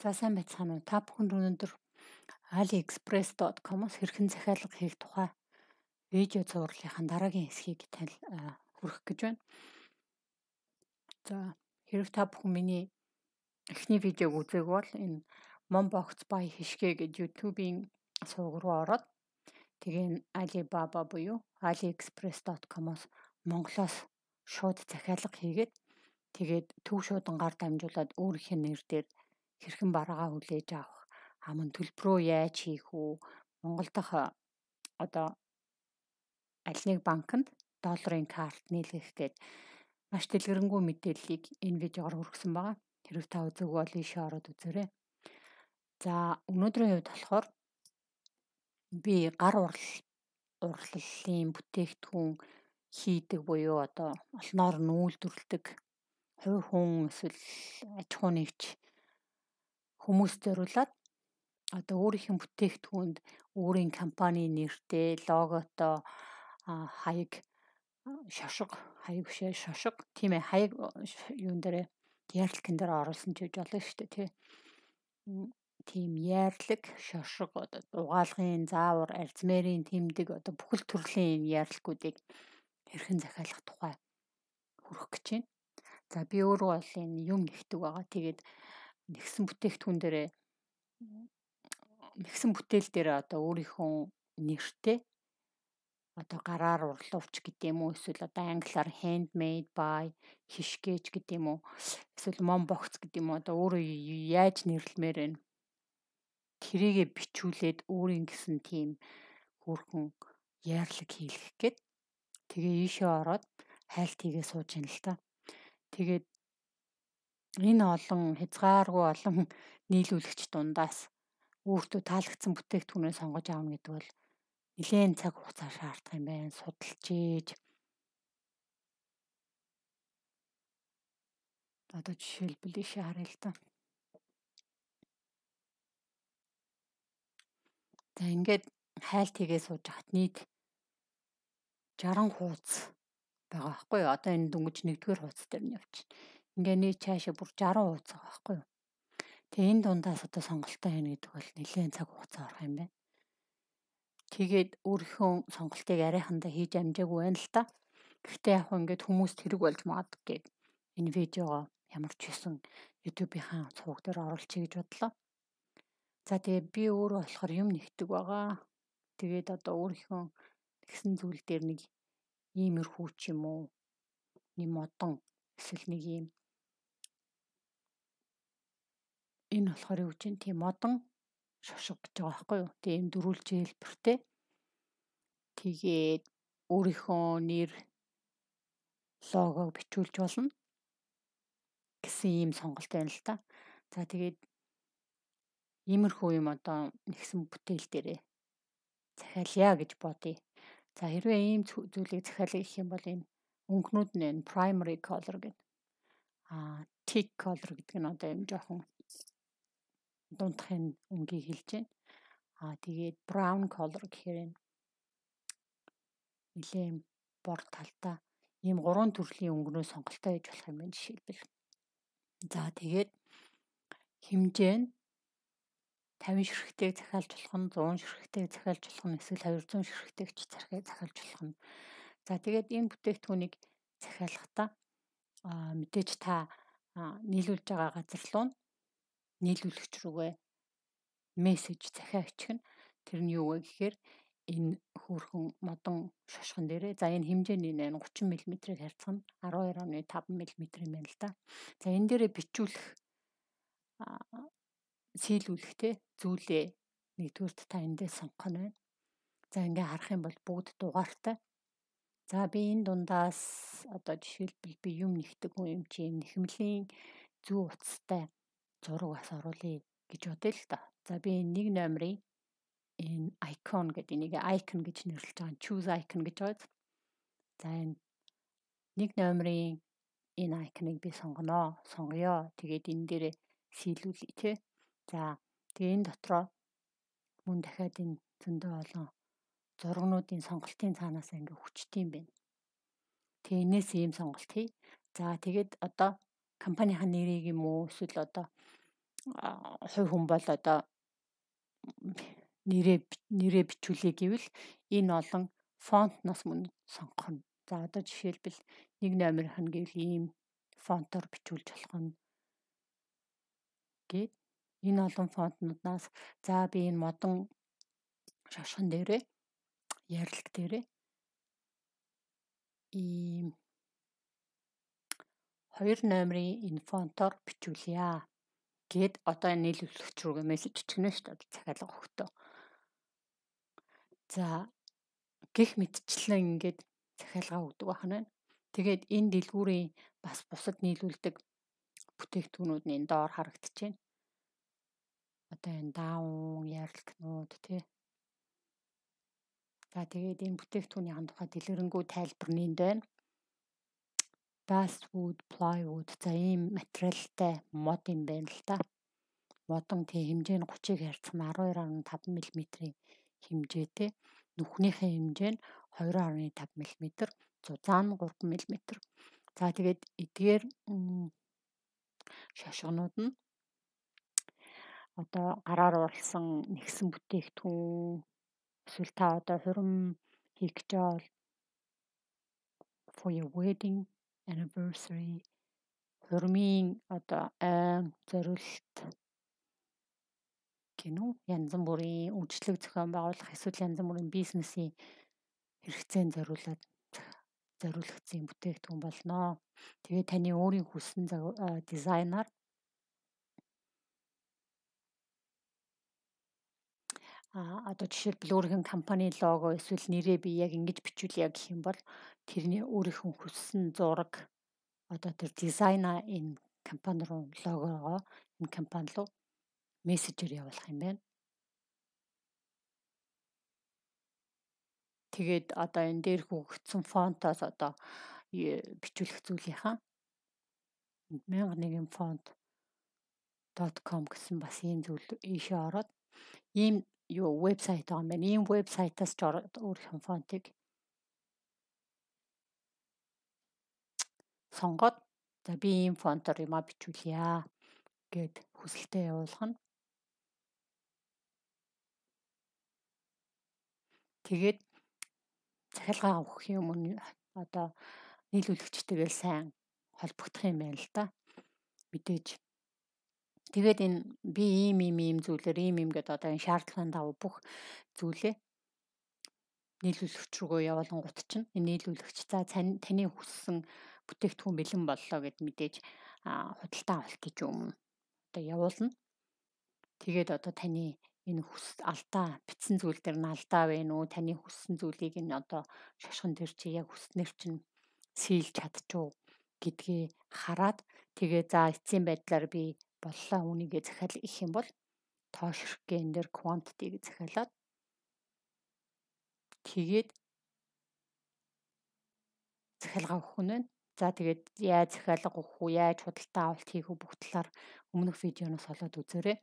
За сайн байцгаана уу? Та бүхэнд өнөөдөр aliexpress.com-оос хэрхэн захиалга хийх тухай видео зурлалынхаа дараагийн хэсгийг хүргэх гэж байна. За хэрэг та бүхэн миний эхний видеог үзээгүй бол энэ Mombox by Hishke гэж YouTube-ийн сувг руу ороод тэгээ Alibaba буюу aliexpress.com-оос Монголоос шууд захиалга хийгээд тэгээд төв шуудангаар дамжуулаад өөрийнхөө нэр дээр хэрхэн бараагаа хүлээж авах, мөн төлбөрөө яаж хийх үү, Монгол дахь одоо аль нэг банкнд долларын карт нийлгэх гээд маш дэлгэрэнгүй мэдээллийг энэ видеогоор хүргэсэн байгаа. Хэрэг та үзээгүй бол ийшээ ороод үзээрэй. За өнөөдрийн хувьд болохоор би гар урлалын бүтээгдэхүүн хийдэг буюу одоо олноор нь үйлдвэрлэдэг хувь хүн эсвэл аж ахуй нэгж хүмүүс зориулаад одоо өөрийнх нь бүтээгдэхүүнд өөрийн компани нэртэй, логотой хаяг шошго тийм ээ хаяг юун дээр яарлалын дээр оруулсан ч гэж болно шүү дээ тий. Тийм яарлаг, шошго, одоо угаалгын, заавар, арзмэрийн тэмдэг одоо бүхэл төрлийн яарлагуудыг хэрхэн захиалах тухай хүргэх гэж байна. За би өөрөө бол энэ юм нэгдэг байгаа. Тэгээд нэгсэн бүтээгдэхүүн дээрээ нэгсэн бүтээл дээр одоо өөрийнхөө нэртэй одоо гараар урлууч гэдэг юм уу эсвэл одоо англиар handmade by хишгээж гэдэг юм уу эсвэл mombox гэдэг юм уу одоо өөрөө яаж нэрлэмээр байна. Тэрийгэ бичүүлээд өөрийн гэсэн тийм хүүрхэн яарлаг хийлгэх гээд тэгээ ийшээ ороод хайлт хийгээ сууж ин л та. Тэгээд энэ олон хязгааргүй олон нийлүүлэгч дундаас өөртөө таалагдсан бүтээгдэхүүнээ сонгож аавна гэдэг бол нэлээд цаг хугацаа шаардах юм байна. Судалж ийж одоо жишээлбэл ийшээ харъя л та. За ингээд хайлт хийгээ сууж хат нийт 60 хуудас байгаа байхгүй юу? Одоо энэ дөнгөж 1-р хуудас дээр нь явчихна. Ингээ нийт цаашаа бүр 60 хуудас байгаа байхгүй юу? Тэгээ энэ дундаас одоо сонголтоо хийнэ гэдэг бол нэлээд цаг хугацаа орох юм байна. Тэгээд өөрийнхөө сонголтыг арайхандаа хийж амжаагүй байна л та. Гэхдээ яг ингээд хүмүүст хэрэг болж магадгүй гэд энэ видеого ямар ч хэсэн YouTube-ийн цувг дээр оруулчихъя гэж бодлоо. За тэгээ би өөрөө болохоор юм нэгдэг байгаа. Тэгээд одоо өөрийнхөө тэгсэн зүйл дээр нэг иймэрхүү ч юм уу нэг модон эсвэл нэг юм энэ болохоор юу гэж юм тийм модон шошго гэж байгаа байхгүй юу? Тийм дөрвөлж хэлбэртэй. Тэгээд өөрийнхөө нэр логог бичүүлж болно гэсэн ийм сонголт байна л та. За тэгээд иймэрхүү юм одоо нэгсэн бүтээл дээрээ захиалъя гэж бодъё. За хэрвээ ийм зүйлийг захиалъя гэх юм бол энэ өнгөнүүд нь энэ primary color гэдэг. Thick color гэдэг нь одоо юм жоохон дундахын өнгийг хэлж байна. Тэгээд brown color гэхээр энэ нэлээд бор талтай ийм 3 төрлийн өнгөнөө сонголтоо хийж болох юм байна жишээлбэл. За тэгээд хэмжээ нь 50 ширхтийг захиалж болох нь 100 ширхтийг захиалж болох нь эсвэл 200 ширхтийг ч захиалж болох нь. За тэгээд энэ бүтээгдэхүүнийг захиалахдаа мэдээж та нийлүүлж байгаа газар руу нийлүүлэгч рүүгээ мессеж захиа очихно. Тэр нь юу вэ гэхээр энэ хүүрхэн модон шошгон дээрээ за энэ хэмжээний 30 мм-ийг харьцах нь 12.5 мм юм байна л да. За энэ дээрээ бичүүлэх сийлүүлэх те зүйлээ нэгдүгürt та эндээ сонгох нь байна. За ингээ харах юм бол бүгд дугаартай. За би энэ дундаас одоо жишээлбэл би юм нэгдэг юм чи нэхэмлийн зүү утастай зураг бас оруулъя гэж бодъё л та. За би нэг номерыг энэ icon гэдэг энийг icon гэж нэрлэж байгаа. Choose icon гэж байгаа. За энэ нэг номерын энэ icon-ыг би сонгоё. Тэгээд энэ дээрээ сийлүүлье тий. За тэгээ энэ дотроо мөн дахиад энэ зөндөө олон зургнуудын сонголтын цаанаас ингээ хүчтэй юм байна. Тэгээ энэс ийм сонголт хий. За тэгээд одоо компанийн нэрийг юм уу эсвэл одоо хувь хүн бол одоо нэрээ бичүүлээ гэвэл энэ олон фонтноос мөн сонгох нь. За одоо жишээлбэл 1 номерийнх нь гэвэл ийм фонтоор бичүүлж болох нь гээд энэ олон фонтнуудаас за би энэ модон шашхан дээрээ ярилг дээрээ ийм 2 номерын энэ фонтоор бичүүлье гээд одоо нийлүүлэгч рүүгээ мессеж чигнэ шүү дээ захиалга өгөхдөө. За гэх мэтчлэн ингээд захиалга өгдөг байна. Тэгээд энэ дэлгүүрийн бас бусад нийлүүлдэг бүтээгдэхүүнүүд нь энэ доор харагдчихэв. Одоо энэ даун ярилгнууд тий. За тэгээд энэ бүтээгдэхүүнийхэн тухай дэлгэрэнгүй тайлбар нь энд байна. Basswood, plywood за ийм материалтай мод юм байна л да. Модон тий хэмжээ нь 30-ыг харьцсан 12.5 мм-ийн хэмжээтэй. Нүхнийхээ хэмжээ нь 2.5 мм, зузаан нь 3 мм. За тэгээд эдгээр шашгонууд нь одоо гараар уралсан нэгсэн бүтээгдэхүүн эсвэл та одоо хурим хийх гэж бол for your wedding anniversary хуримын одоо зориулалт гинүү янз бүрийн үйлчлэг зохион байгуулах эсвэл янз бүрийн бизнесийн хэрэгцээнд зориулагдсан бүтээгдэхүүн болно. Тэгээд таны өөрийн хүссэн дизайнаар одоо жишээлбэл өөрийнх нь компани лого эсвэл нэрээ би яг ингэж бичүүлье гэх юм бол тэрний өөрийнх нь хүссэн зураг одоо тэр дизайна энэ компани руу логогоо энэ компани руу мессежээр явуулах юм байна. Тэгээд одоо энэ дээр хөгжсөн фонтоос одоо бичүүлэх зүйлийнхаа 1001 font.com гэсэн бас ийм зүйл ийшээ ороод ийм вебсайт байгаа юм байна. Ийм вебсайтаас ч ороод өөрийнхөө фонтыг сонгоод за би ийм фонтоор юма бичүүлье гэд хүсэлтээ явуулах нь. Тэгээд захиалгаа өгөх юм одоо нийлүүлэгчтэйгээ сайн холбогдох юм байна л да. Мэдээж. Тэгээд энэ би ийм зүйлээр ийм гэдэг одоо энэ шаардлагын дагуу бүх зүйлээ нийлүүлэгч рүүгээ явуулангууд чинь энэ нийлүүлэгч за таны хүссэн бүтээгдэхүүн бэлэн боллоо гэд мэдээж худалдаа авалт гэж юм одоо явуулна. Тэгээд одоо таны энэ алдаа бичсэн зүйл дээр нь алдаа байна уу? Таны хүссэн зүйлийг энэ одоо шашхан дээр чи яг хүснээр чинь сийлж чадчихуу гэдгийг хараад тэгээ за эцсийн байдлаар би боллоо үнийгээ захиал их юм бол тоошрохгээ энэ дээр quantity гэж захиалаад тэгээд захиалга өгөх нь байна. За тэгээд яаж захиалга өгөх үү, яаж худалдаа авалт хийх үү бүх талаар өмнөх видеоноос олоод үзээрэй.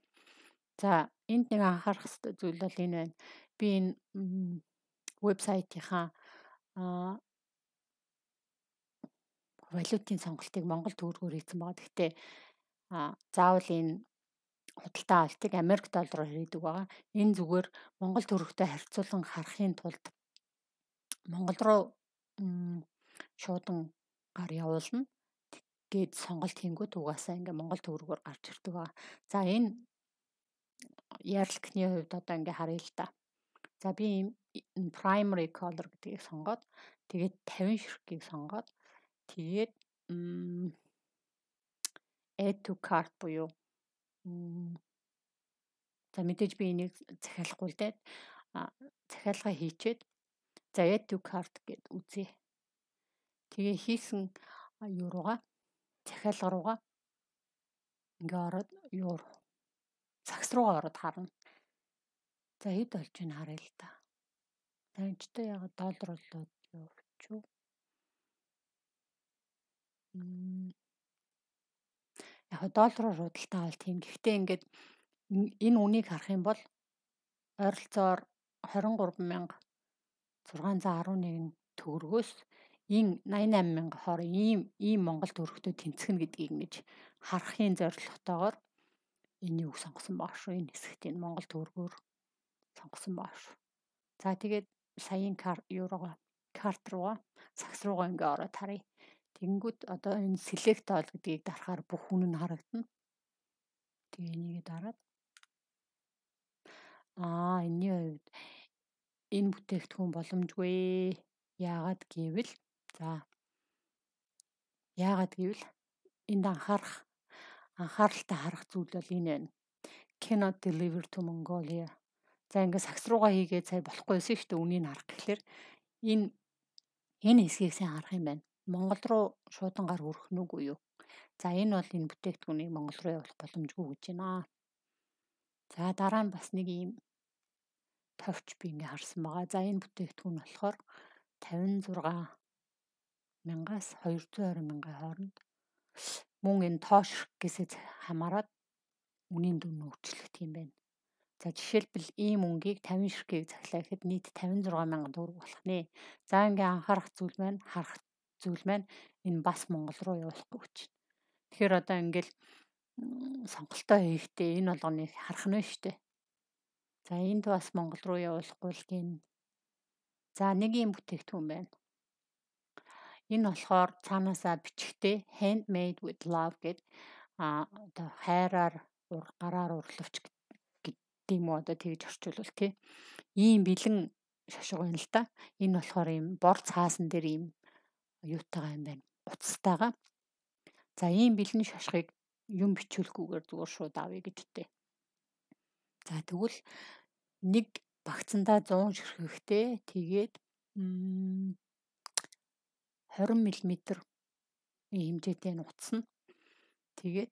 За энд нэг анхаарах ёстой зүйл бол энэ байна. Би энэ вебсайтынхаа валютын сонголтыг монгол төгрөгөөр хийсэн байгаа. Гэхдээ заавал энэ худалдаа авалтыг Америк доллараар хийдэг байгаа. Энэ зүгээр монгол төгрөгтэй харьцуулан харахын тулд монгол руу шуудан гар явуулна гээд сонголт хийнгүүт угаасаа ингээ монгол төгрөгөөр гарч ирдэг байгаа. За энэ ярилгын хувьд одоо ингээ харъя л да. За би энэ primary color гэдгийг сонгоод тэгээд 50 ширхгийг сонгоод тэгээд add to cart буюу за мэдээж би энийг захиалахгүй л дээ. Захиалга хийчээд за add to cart гэд үзье. Тэгээ хийсэн юу руугаа захиалга руугаа ингээ ороод юу цагс руугаа ороод харна. За хэд болж байна харъя л да. Таньчтай ягаад доллар болоод явуулчих. Яг доллараар худалдаа авалт хийн. Гэхдээ ингээд энэ үнийг харах юм бол ойролцоогоор 23,611 төгрөгөөс энэ 88,000 хоорон ийм монгол төгрөгтэй тэнцэх нь гэдгийг ингэж харахын зорилготойгоор энэ үг сонгосон баг шүү. Энэ хэсэгт энэ Монгол төгрөгөөр сонгосон баг шүү. За тэгээд саяын еврогоо карт руугаа цагс руугаа ингээ ороод харъя. Тэгэнгүүт одоо энэ select all гэдгийг дарахаар бүх хүн нь харагдана. Тэгээ энийг дараад энэний хувьд энэ бүтээгдэхүүн боломжгүй. Яагаад гэвэл энд анхааралтай харах зүйл бол энэ байна. Cannot deliver to Mongolia. За ингээ сагс руугаа хийгээд сая болохгүйсэн шүү дээ. Үнийг харах гэхлээр энэ хэсгийг сайн харах юм байна. Монгол руу шуудангаар хүрэх нь үгүй юу? За энэ бол энэ бүтээгдэхүүнийг Монгол руу явуулах боломжгүй гэж байна. За дараа нь бас нэг ийм товч би ингээ харсан байгаа. За энэ бүтээгдэхүүн болохоор 56,000-аас 220,000 хооронд мөн энэ тоош гэсээ хамаарат үнийн дүн өөрчлөгдөх юм байна. За жишээлбэл ийм мөнгийг 50 ширхгийг захлаа гэхэд нийт 56,000 төгрөг болох нэ. За ингээ анхаарах зүйл маань энэ бас Монгол руу явуулахгүй гэж. Тэгэхээр одоо ингээл сонголтоо хийхдээ энэ болгоныг харах нь шүү дээ. За энд бас Монгол руу явуулахгүй л гин. За нэг юм бүтээгдэхүүн байна. Энэ болохоор цаанаасаа бичгтээ handmade with love гэд одоо хайраар гараар урлавч гэдэг юм уу одоо тэгж орчуулвал тий. Ийм бэлэн шошго байна л да. Энэ болохоор ийм бор цаасан дээр ийм юутайгаа юм байна. Уцтайгаа. За ийм бэлэн шошгыг юм бичүүлэхгүйгээр зүгээр шууд авъя гэж үтэй. За тэгвэл нэг багцандаа 100 ширхэгтэй тэгээд 20 мм хэмжээтэй нуцсан. Тэгээд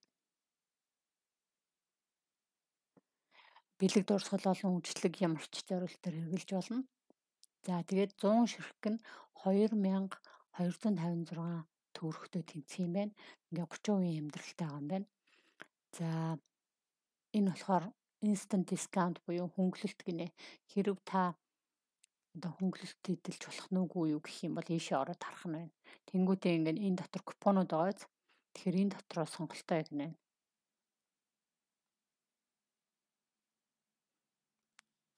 бэлэг дурсгал болон үйлчлэг ямарч зориултаар хэрэгжилж болно. За тэгээд 100 ширхэг нь 2256 төгрөгтэй тэнцэх юм байна. Ингээ 30% амьдралтай байгаа юм байна. За энэ болохоор instant discount буюу хөнгөлөлт гинэ. Хэрв та одоо хөнгөлөлт эдэлж болох нүггүй юу гэх юм бол ийшээ ороод харах нь байна. Тэнгүүтээ ингээ энэ дотор купонууд байгааз. Тэгэхээр энэ дотроо сонголтоо яг нэ.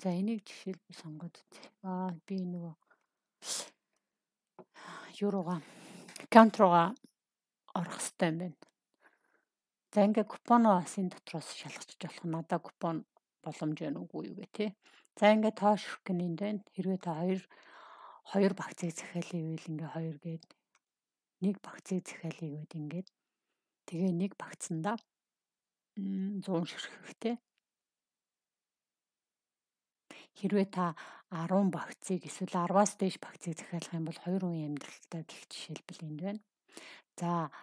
За энийг жишээлбэл сонгоод үзье. Би нөгөө еврога аккаунт руугаа орох хэрэгтэй юм байна. За ингээ купоноо бас энэ дотроос шалгачих болох. Надаа купон боломж байна уугүй юу гэх тээ. За ингээ тоош гэнэнд байна. Хэрвээ та хоёр багцыг захиалъя гэвэл ингээ 2 гээд нэг багцыг захиалъя гэвэл ингээд тэгээ нэг багцандаа 100 ширхэгтэй. Хэрвээ та 10 багцыг эсвэл 10-аас дээш багцыг захиалах юм бол 2% амьдралтай гэх жишээлбэл энд байна. За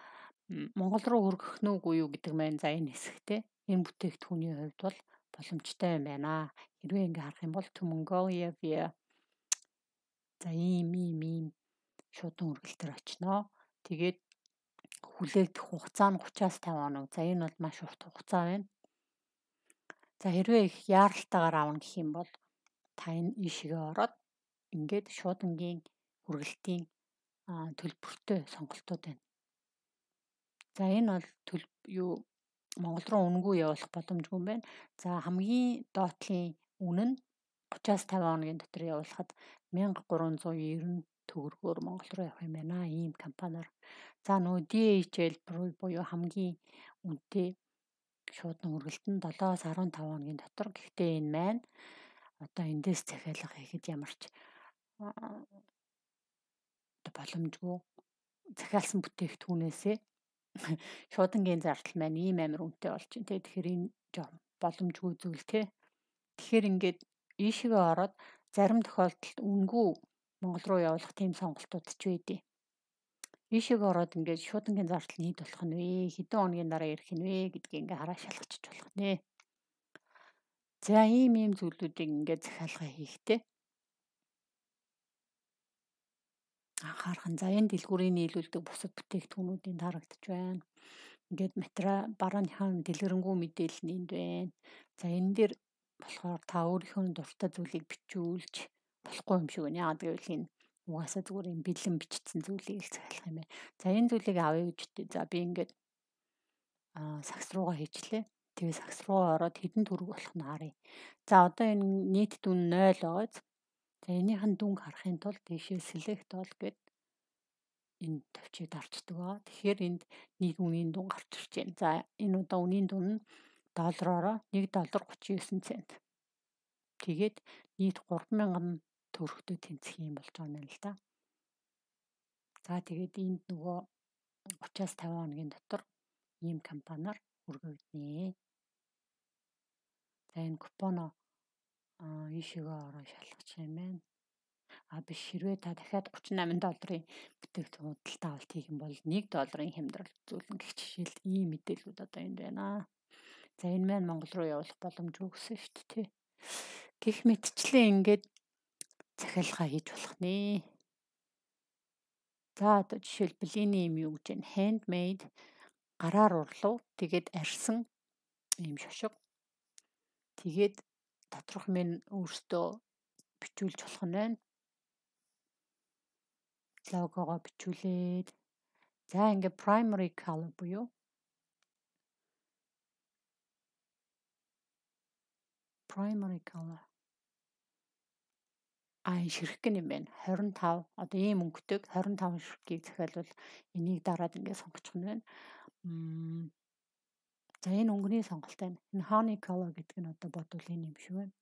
Монгол руу хөргөх нь үгүй юу гэдэг маань за энэ хэсэгтээ энэ бүтээгдэхүүний хувьд бол боломжтой юм байна. Хэрвээ ингээ харах юм бол to Mongolia via за ийм шуудан үргэлтэр очноо. Тэгээд хүлээгдэх хугацаа нь 30-аас 50 хоног. За энэ бол маш урт хугацаа байна. За хэрвээ их яаралтайгаар аавна гэх юм бол та энэ ийшээ ороод ингээд шуудангийн хүргэлтийн төлбөртэй сонголтууд байна. За энэ бол Монгол руу үнэгүй явуулах боломжгүй юм байна. За хамгийн доотлын үнэ нь 30-аас 50 хоногийн дотор явуулахад 1390 төгрөгөөр Монгол руу явах юм байна. Ийм компаниар. За нөгөө DHL буюу хамгийн үнэтэй шуудан хүргэлт нь 7-аас 15 хоногийн дотор. Гэхдээ энэ маань одоо эндээс захиалга хийхэд ямарч боломжгүй захиалсан бүтээгдэхүүнээсээ шуудангийн зардал маань ийм амар үнэтэй болж байна. Тэгэхээр энэ боломжгүй зүйл те. Тэгэхээр ингээд ийшээ ороод зарим тохиолдолд үнгүй Монгол руу явуулах тийм сонголтууд ч байдیں۔ Ийшээ ороод ингээд шуудангийн зардал нь хэд болох нь вэ? Хэдэн хоногийн дараа ирэх нь вэ гэдгийг ингээ хараа шалгачих болох нэ. За ийм зүйлүүдийг ингээд захиалга хийхдээ анхаарах нь. За энэ дэлгүүрийн нийлүүлдэг бусад бүтээгдэхүүнүүдийн харагдаж байна. Ингээд барааныхаа дэлгэрэнгүй мэдээлэл нь энд байна. За энэ дээр болохоор та өөрийнхөө дуртай зүйлийг бичүүлж болохгүй юм шиг байна. Яагаад гэвэл энэ угаасаа зүгээр юм бэлэн бичсэн зүйлийг л захиалах юм байна. За энэ зүйлийг авъя гэж үтэй. За би ингээд сагс руугаа хийчлээ. Тэгээ сагс руу ороод хэдэн төгрөг болох нь харъя. За одоо энэ нийт дүн 0 байгааз. За энийхэн дүнг харахын тулд тийшээ select all гэд энэ товчийг дарчдаг байгаа. Тэгэхээр энд нэг үнийн дүн гарч ирж байна. За энэ удаа үнийн дүн нь доллараараа $1.39. Тэгээд нийт 3,000 төгрөгтэй тэнцэх юм болж байгаа юм л да. За тэгээд энд нөгөө 30-аас 50 хоногийн дотор ийм компаниар хүргэгдэнэ. За энэ купоно ийшээгээ ороо шалгах юм байна. Биш хэрвээ та дахиад $38 бүтээгдэхүүн худалдаа авалт хийх юм бол $1 хямдрал үзүүлнэ гэх жишээл ийм мэдээлүүд одоо энд байна. За энэ маань Монгол руу явуулах боломжгүй гэсэн шүү дээ. Гэх мэтчлэн ингээд захиалгаа хийж болох нэ. За одоо жишээлбэл энэ юм юу гэж байна? Handmade гараар урлав. Тэгээд арьсан ийм шошго. Тэгээд доторх минь өөртөө бичүүлж болох нь байна. Логогоо бичүүлээд. За ингээд primary color буюу primary color. Ширхэг юм байна. 25. Одоо ийм өнгөтэйг 25 ширхгийг захиалвал энийг дараад ингээд сонгочих нь байна. За энэ өнгөний сонголт байна. Энэ honey color гэдэг нь одоо бодвол энэ юм шиг байна.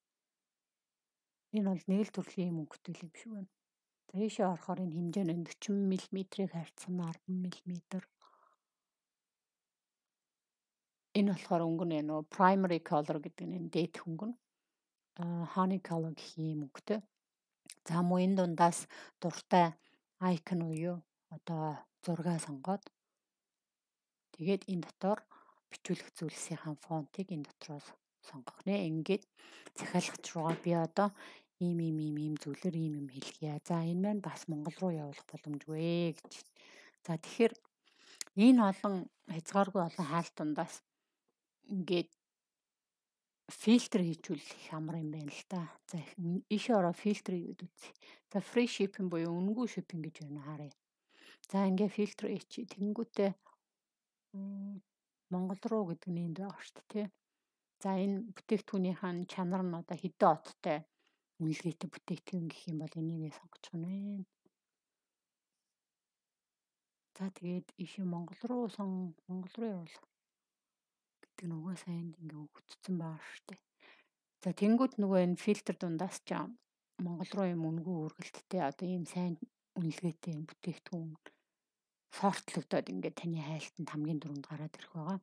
Энэ бол нэг л төрлийн юм өнгөтэй юм шиг байна. За ийшээ орохоор энэ хэмжээ нь 40 мм-ийг харьцсан 10 мм. Энэ болохоор өнгө нь нөгөө primary color гэдэг нь дээд өнгө нь. Honey color гэх юм өнгөтэй. За мөн энэ дундаас дуртай icon уу одоо зургаа сонгоод тэгээд энэ дотор бичүүлэх зүйлсийн фонтыг энэ дотроос сонгох нэ. Ингээд захиалгач руугаа би одоо ийм зүйлэр ийм юм хэлье. За энэ маань бас Монгол руу явуулах боломжгүй гэж. За тэгэхээр энэ олон хязгааргүй олон хаалт дундаас ингээд фильтр хийжүүлэх амар юм байна л да. За ийшээ ороо фильтр хийгээд үзье. За free shipping буюу үнэгүй shipping гэж байна харъя. За ингээд фильтр хийчих. Тэнгүүтээ Монгол руу гэдэг нь энд байгаа шүү дээ. За энэ бүтээгдэхүүнийхэн чанар нь одоо хэдэн оттой үнэлгээтэй бүтээгдэхүүн гэх юм бол энийг сонгочих нь байна. За тэгээд ийшээ Монгол руу явуулах гэдэг нь угаасаа энд ингээ өгөгдсөн байгаа шүү дээ. За тэнгууд нөгөө энэ фильтр дундаас ч Монгол руу юм үнэгүй үргэлттэй одоо ийм сайн үнэлгээтэй бүтээгдэхүүн сортлогдоод ингээ таны хайлтанд хамгийн дөрөнд гараад ирэх байгаа.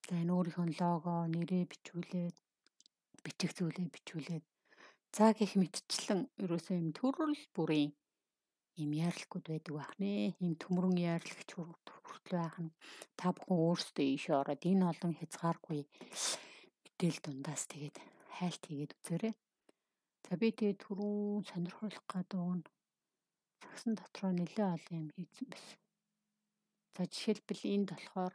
За энэ өөрийнхөө лого, нэрээ бичүүлээд, бичих зүйлээ бичүүлээд. За гэх мэтчлэн ерөөсөө юм төрөл бүрийн ийм яарлагууд байдаг байх нэ. Ийм төмөрөн яарлагч хүртэл байх нь та бүхэн өөрсдөө ийшээ ороод энэ олон хязгааргүй мэдээл дундаас тэгээд хайлт хийгээд үзээрэй. За би тэгээд түрүүн сонирхуулах гэдэг нь сагсан дотроо нэлээ олон юм хийсэн байсан. За жишээлбэл энд болохоор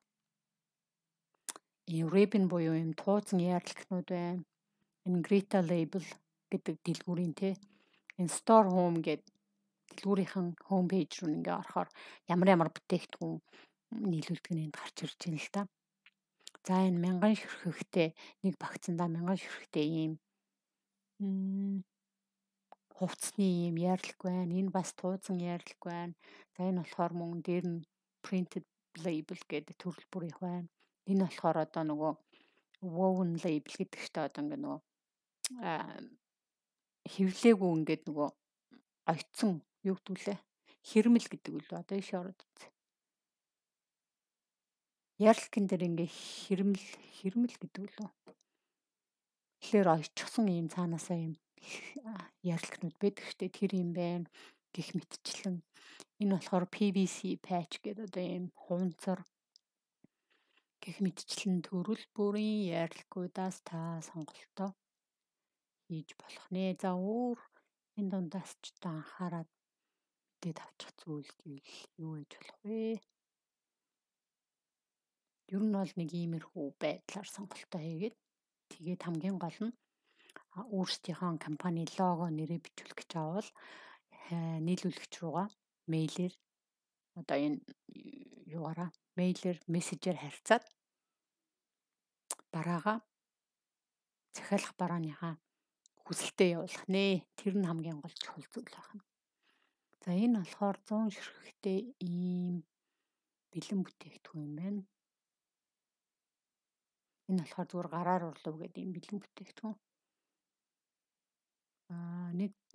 ийм ribbon буюу ийм тууцан яарлагчнууд байна. Энэ Greta label гэдэг дэлгүүрийн энэ store home гэдэг дэлгүүрийнхэн home page руу ингээ орохоор ямар бүтээгдэхүүн нийлүүлдэг нь энд гарч ирж байна л да. За энэ 1000 ширхэгтэй нэг багцандаа 1000 ширхэгтэй ийм хувцсны ийм яарлаг байна. Энэ бас тууцан яарлаг байна. За энэ болохоор мөн дээр нь printed label гэдэг төрөл бүрийнх байна. Энэ болохоор одоо нөгөө woven label гэдэг чинь одоо ингээ нөгөө хэвлээгүй ингээд нөгөө ойтсон юу гэдүүлээ хэрмэл гэдэг үл одоо ийш ороод үзье. Яарлагын дээр ингээ хэрмэл гэдэг үл. Тэгэхээр ойчсон ийм цаанаасаа ийм яарлагнууд байдаг штэ тэр юм байна гэх мэтчлэн энэ болохоор PVC patch гэдэг одоо ийм хуванцар гэх мэтчлэн төрөл бүрийн яарлагуудаас та сонголтоо хийж болох нэ. За өөр энэ дундаас ч та анхаарал мэдээд авчих зүйл гэвэл юу гэж болох вэ? Ер нь бол нэг иймэрхүү байдлаар сонголтоо хийгээд тэгээд хамгийн гол нь өөрсдийнхөө компани лого нэрээ бичүүлэх гэж авал нийлүүлэгч руугаа мэйлээр одоо энэ юугаараа мэйлээр мессежээр харьцаад бараагаа захиалах барааныхаа хүсэлтэд явуулах нэ. Тэр нь хамгийн гол чухал зүйл байна. За энэ болохоор 100 ширхэгтэй ийм бэлэн бүтээгдэхүүн юм байна. Энэ болохоор зүгээр гараар урлав гэдэг ийм бэлэн бүтээгдэхүүн.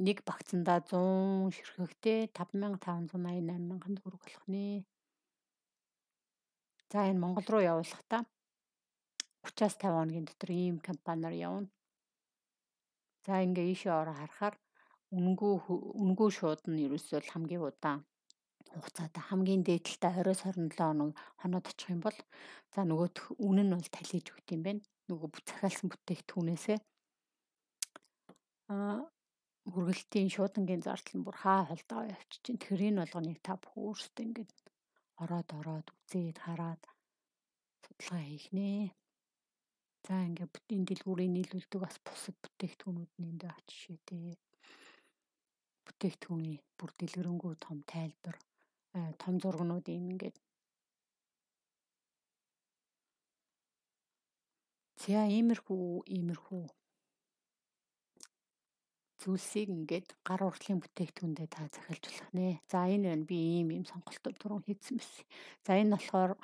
Нэг багцандаа 100 ширхэгтэй 5588 төгрөг болох нэ. За энэ Монгол руу явуулахдаа 30-аас 50 хоногийн дотор ийм компаниар явна. За ингээ ийшээ ороо харахаар үнэгүй шууд нь ерөөсөө хамгийн удаан хугацаатай хамгийн дээдэлтэй 20-27 хоноод очих юм бол за нөгөөх үнэн нь бол талиж өгд юм байна. Нөгөө захиалсан бүтээгдэхүүнээсээ хүргэлтийн шуудангийн зардал нь бүр хаа холдоо явчих чинь. Тэгэхээр энэ болгоныг та бүх өөрсдөө ингээд ороод үзээд хараад судалгаа хийх нэ. За ингээд энэ дэлгүүрийн нийлүүлдэг бас бусад бүтээгдэхүүнүүд нь энд очишээ дээ. Бүтээгдэхүүний бүр дэлгэрэнгүй том тайлбар, том зургнууд ингээд. За иймэрхүү зүйлсийг ингээд гар уртлын бүтээгдэхүүндээ та захиалж болох нэ. За энэ байна би ийм сонголтууд түрүүн хийсэн байсан. За энэ болохоор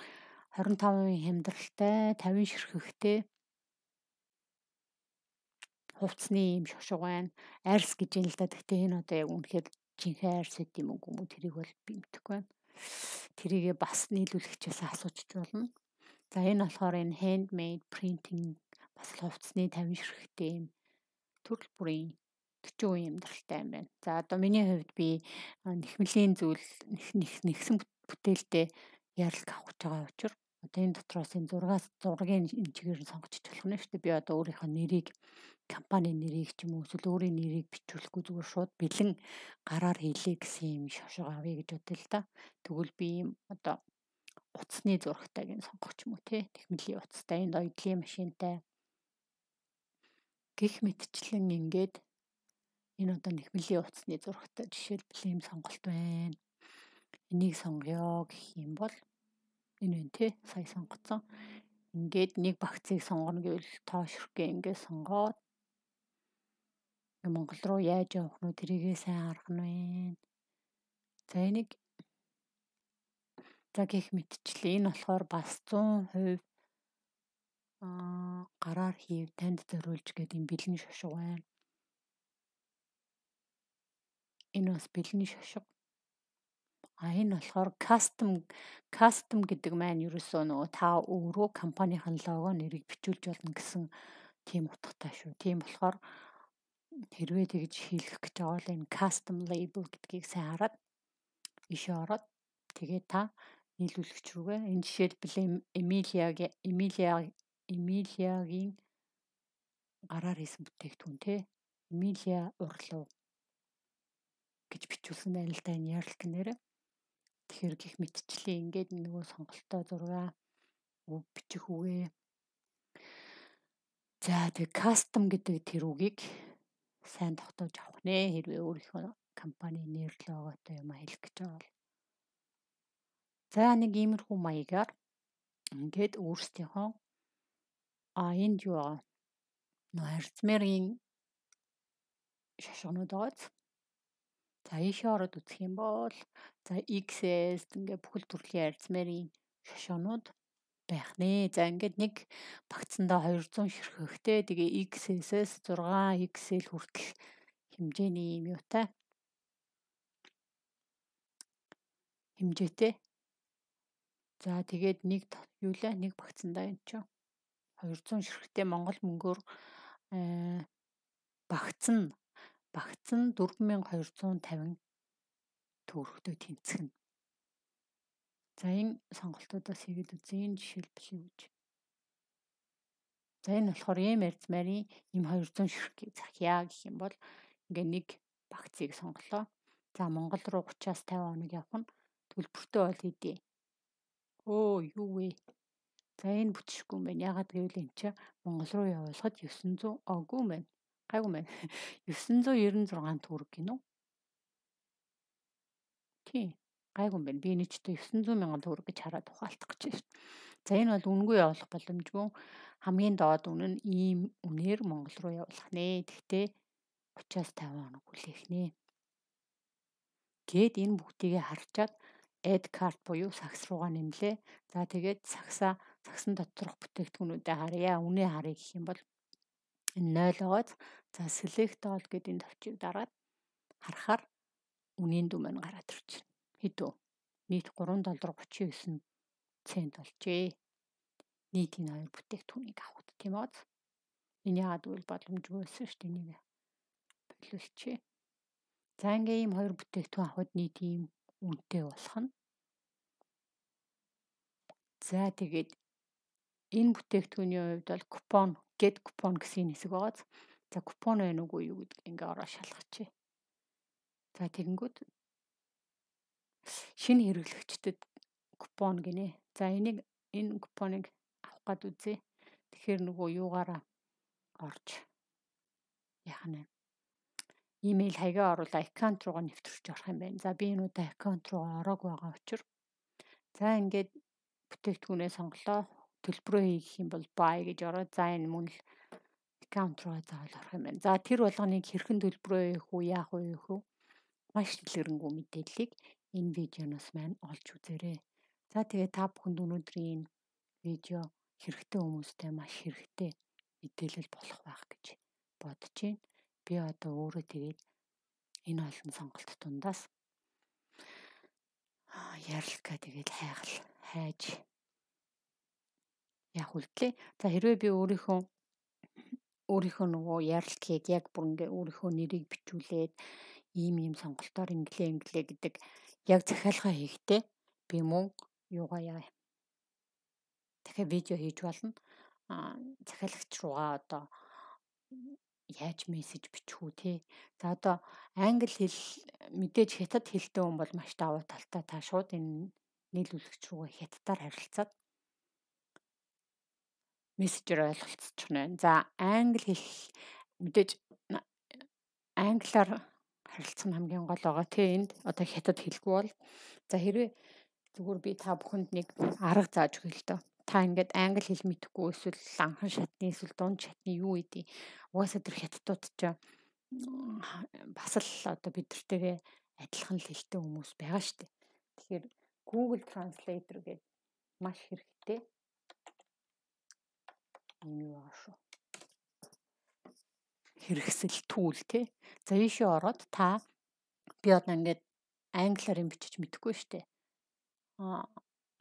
25% хямдралтай 50 ширхэгтэй хувцсны ийм шошго байна. Арс гэж юм л да. Гэхдээ энэ одоо яг үнэхээр жинхэнэ арс гэдэг юм уу тэрийг бол би мэдэхгүй байна. Тэрийгээ бас нийлүүлэгчээс асууж болно. За энэ болохоор энэ handmade printing бас хувцсны 50 ширхэгтэй ийм төрөл бүрийн 40% хямдралтай юм байна. За одоо миний хувьд би нэхмэлийн зүйл нэгсэн бүтээлдээ ярилт авах гэж байгаа учраас одоо энэ дотроос энэ зургийн энэ чигээр сонгочих болох нь шүү дээ. Би одоо өөрийнхөө нэрийг компани нэрийг ч юм уу эсвэл өөрийн нэрийг бичүүлэхгүй зүгээр шууд бэлэн гараар хийлээ гэсэн юм шошго авъя гэж бодлоо л да. Тэгвэл би ийм одоо утасны зурагтайг нь сонгох юм уу те. Нэхмэлийн утастай энэ оёдлын машинтай гэх мэтчлэн ингээд энэ одоо нэхмэлийн утасны зурагтай жишээлбэл ийм сонголт байна. Энийг сонгоё гэх юм бол энэ вэ те сая сонгоцсон. Ингээд нэг багцыг сонгоно гэвэл тоошрхгээ ингээд сонгоод Монгол руу яаж явах нь тэрийгээ сайн харах нь байна. За энийг за гэх мэтчлээ энэ болохоор бас 100% гараар хийв танд зориулж гэдэг юм бэлэн шошго байна. Энэ бас бэлэн шошго. Энэ болохоор custom гэдэг маань ерөөсөө нөгөө та өөрөө компанийн лого нэрийг бичүүлж болно гэсэн тийм утгатай шүү. Тийм болохоор хэрвээ тэгж хийлгэх гэж байгаа бол энэ custom label гэдгийг сайн хараад ишээ ороод тэгээд та нийлүүлэгч рүүгээ энэ жишээлбэл Эмилиягийн гараар хийсэн бүтээгдэхүүн те Эмилия урлуу гэж бичүүлсэн байна л да энэ ярилт нэрэ. Тэгэхээр гих мэтчлээ ингээд нөгөө сонголтоо зургаа бичих үгээ. За тэг custom гэдэг тэр үгийг сайн тогтоож авах нэ хэрвээ өөрийнхөө компани нэр логотой юм хэлэх гэж байгаа бол. За нэг иймэрхүү маягаар ингээд өөрсдийнхөө энд юу аа нөө харьцмэрийн шошгонууд байгааз. За ийшээ ороод үзэх юм бол за XS ингээд бүхэл төрлийн харьцмэрийн шошгонууд байх нэ. За ингээд нэг багцандаа 200 ширхэгтэй тэгээ XS-с 6 XL хүртэл хэмжээний юм юутай хэмжээтэй. За тэгээд нэг юулаа нэг багцандаа энэ ч 200 ширхэгтэй Монгол мөнгөөр багцсан 4250 төгрөгтэй тэнцэх нь. За энэ сонголтуудаас хийгээд үзье. Энэ жишээлбэл юу гэж. За энэ болохоор ийм арьцмарын ийм 200 ширхгийг захиа гэх юм бол ингээ нэг багцыг сонголоо. За Монгол руу 30-аас 50 хоног явах нь төлбөртэй бол хэдий. Юу вэ? За энэ бүтшгүй юм байна. Ягаад гэвэл энэ чинь Монгол руу явуулахад 900 гайгүй юм байна. 996 төгрөг гинөө. Тийм. Гайгүй юм байна. Би энэ ч 900,000 төгрөг гэж хараад ухаалтах гэж байна. За энэ бол үнгүй явуулах боломжгүй. Хамгийн доод үнэ нь ийм үнээр Монгол руу явуулах нэ. Тэгтээ 30-50 хоног хүлээх нэ. Гээд энэ бүгдийг харчаад add cart буюу сагс руугаа нэмлээ. За тэгээд сагсан доторх бүтээгдэхүүнүүдэд харъя. Үнэ харъя гэх юм бол энэ 0 байгааз за select all гэдэг энэ товчийг дараад харахаар үнийн дүн маань гараад ирж байна. Хэд вэ? Нийт $3.39 болжээ. Нийт энэ хоёр бүтээгдэхүүнийг авахд тийм үү? Энэ яагаад гэвэл боломжгүй байсан шүү дээ. Энийг боловсчээ. За ингээ ийм хоёр бүтээгдэхүүн авахд нийт ийм үнэтэй болох нь. За тэгээд энэ бүтээгдэхүүний хувьд бол купон, get купон гэсэн хэсэг байгааз. За купон байна уугүй юу гэдгийг ингээ ороо шалгачээ. За тэгэнгүүт шинэ хэрэглэгчдэд купон гинэ. За энэ купоныг авах гад үзье. Тэгэхээр нөгөө юугаараа орж яах нь имэйл хаягаа оруулаад аккаунт руугаа нэвтрүүлж орох юм байна. За би энэ удаа аккаунт руугаа ороог байгаа учраас за ингээд бүтээгдэхүүнээ сонголоо. Төлбөрөө хийх юм бол buy гэж ороод за энэ мөн л аккаунт руугаа заавал орох юм байна. За тэр болгоныг хэрхэн төлбөрөө хийх үү, яах вэ? Маш дэлгэрэнгүй мэдээллийг энэ видеоноос маань олж үзээрэй. За тэгээ та бүхэнд өнөөдрийн энэ видео хэрэгтэй хүмүүстээ маш хэрэгтэй мэдээлэл болох байх гэж бодож байна. Би одоо өөрөө тэгээд энэ олон сонголт дундаас ярилцгаа тэгээд хайж явах үлдлээ. За хэрвээ би өөрийнхөө нөгөө ярилцлагыг яг бүр ингээ өөрийнхөө нэрийг бичүүлээд ийм сонголтоор инглээ гэдэг яг захиалгаа хийхдээ би мөн юугаа яа. Тэгэхээр видео хийж болно. Захиалагч руугаа одоо яаж мессеж бичих үү те. За одоо англи хэл мэдээж хятад хэлтэй хүн бол маш давуу талтай. Та шууд энэ нийлүүлэгч рүүгээ хятадаар харилцаад мессежээр ойлголцчих нь. За англи хэл мэдээж англиар харилцах нь хамгийн гол байгаа тий. Энд одоо хятад хэлгүй бол за хэрвээ зүгээр би та бүхэнд нэг арга зааж өгье л доо. Та ингээд англи хэл мэдэхгүй эсвэл анхан шатны эсвэл дунд шатны юу гэдэг угаасаа тэр хятадууд ч бас л одоо бидэртэйгээ адилхан л хэлтэй хүмүүс байгаа шүү дээ. Тэгэхээр Google Translator гэдэг маш хэрэгтэй юм юу шүү. Хэрэгсэл түүл тий. За ийшээ ороод та би одоо ингээд англиар юм бичиж мэдэхгүй шүү дээ.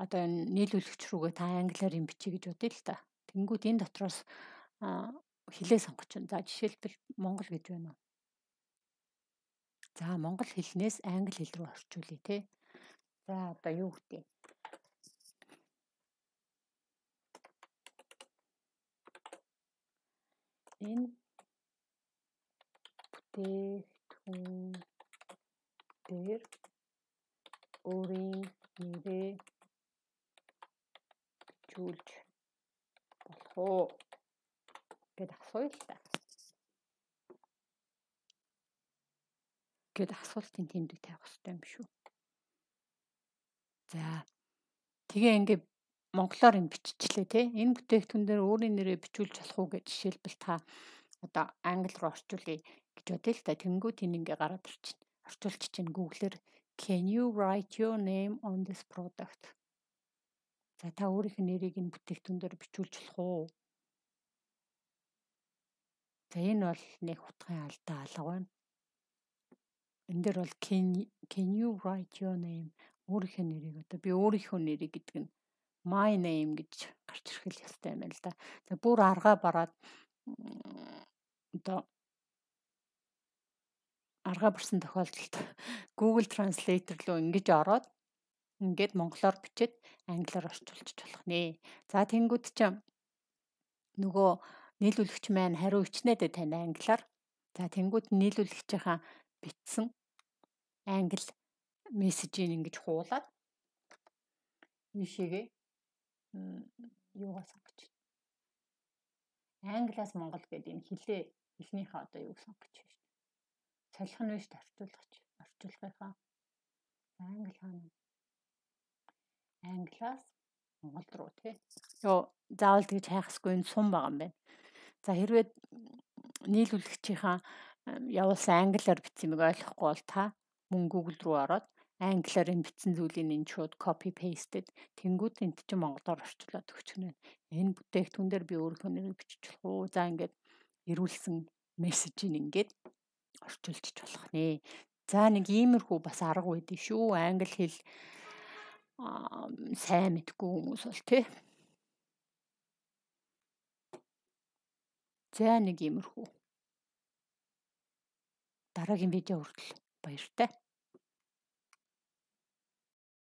Одоо энэ нийлүүлэгч рүүгээ та англиар юм бичиж гэж бодъё л та. Тэнгүүд энэ дотроос хэлээ сонгож байна. За жишээлбэл монгол гэж байна уу? За монгол хэлнээс англи хэл рүү орчуулъя те. За одоо юу гэдэг? Энэ бүтээгдэхүүн дээр өөрийн нэрээ бичүүлж болох уу гэд асууя л та. Гэд асуултын тэмдэг тавих хэрэгтэй юм шүү. За тэгээ ингээд монголоор юм биччихлээ те. Энэ бүтээгдэхүүн дээр өөрийн нэрээ бичүүлж болох уу гэж жишээлбэл та одоо англи руу орчуулъя гэж бодъё л та. Тэнгүүд энэ ингээ гараад ирчихнэ. Орчуулчих чинь Google-ээр can you write your name on this product? За та өөрийнхөө нэрийг энэ бүтээгдэхүүн дээр бичүүлж болох уу? За энэ бол нэг утгын алдаа алга байна. Энэ дээр бол can you write your name өөрийнхөө нэрийг одоо би өөрийнхөө нэрийг гэдэг нь my name гэж гарч ирэх ёстой юм байна л да. За бүр аргаа бараад одоо аргаа барсан тохиолдолд Google Translator руу ингэж ороод ингээд монголоор бичээд англиар орчуулчих болох нэ. За тэнгууд ч нөгөө нийлүүлэгч маань хариу ичнээд тань англиар. За тэнгууд нийлүүлэгчийнхаа бичсэн англи мессежийг ингэж хуулаад ийшээгээ юугаа сонгож байна. Англиас монгол гэдэг энэ хэлнийхээ одоо юуг сонгож байна шүү дээ. Солих нь биш орчуулгахаа. Англи хаана? Англиас Монгол руу тий. Йоо, заавал тэгж хайхсгүй энэ сум байгаа юм байна. За хэрвээ нийлүүлэгчийнхаа явуулсан англиар бичсэн юмыг ойлгохгүй бол та мөн Google руу ороод англиар энэ бичсэн зүйлийг энэ шууд copy pasted тэнгууд энд чинь монголоор орчуулад өгчихнэ. Энэ бүтээгдэхүүн дээр би өөрийнхөө нэрийг бичиж болох уу? За ингээд ирүүлсэн мессежийг ингээд орчуулчих болох нэ. За нэг иймэрхүү бас арга байдий шүү. Англи хэл сайн мэдгүй хүмүүс бол тий. За нэг иймэрхүү. Дараагийн видео хүртэл баяртай.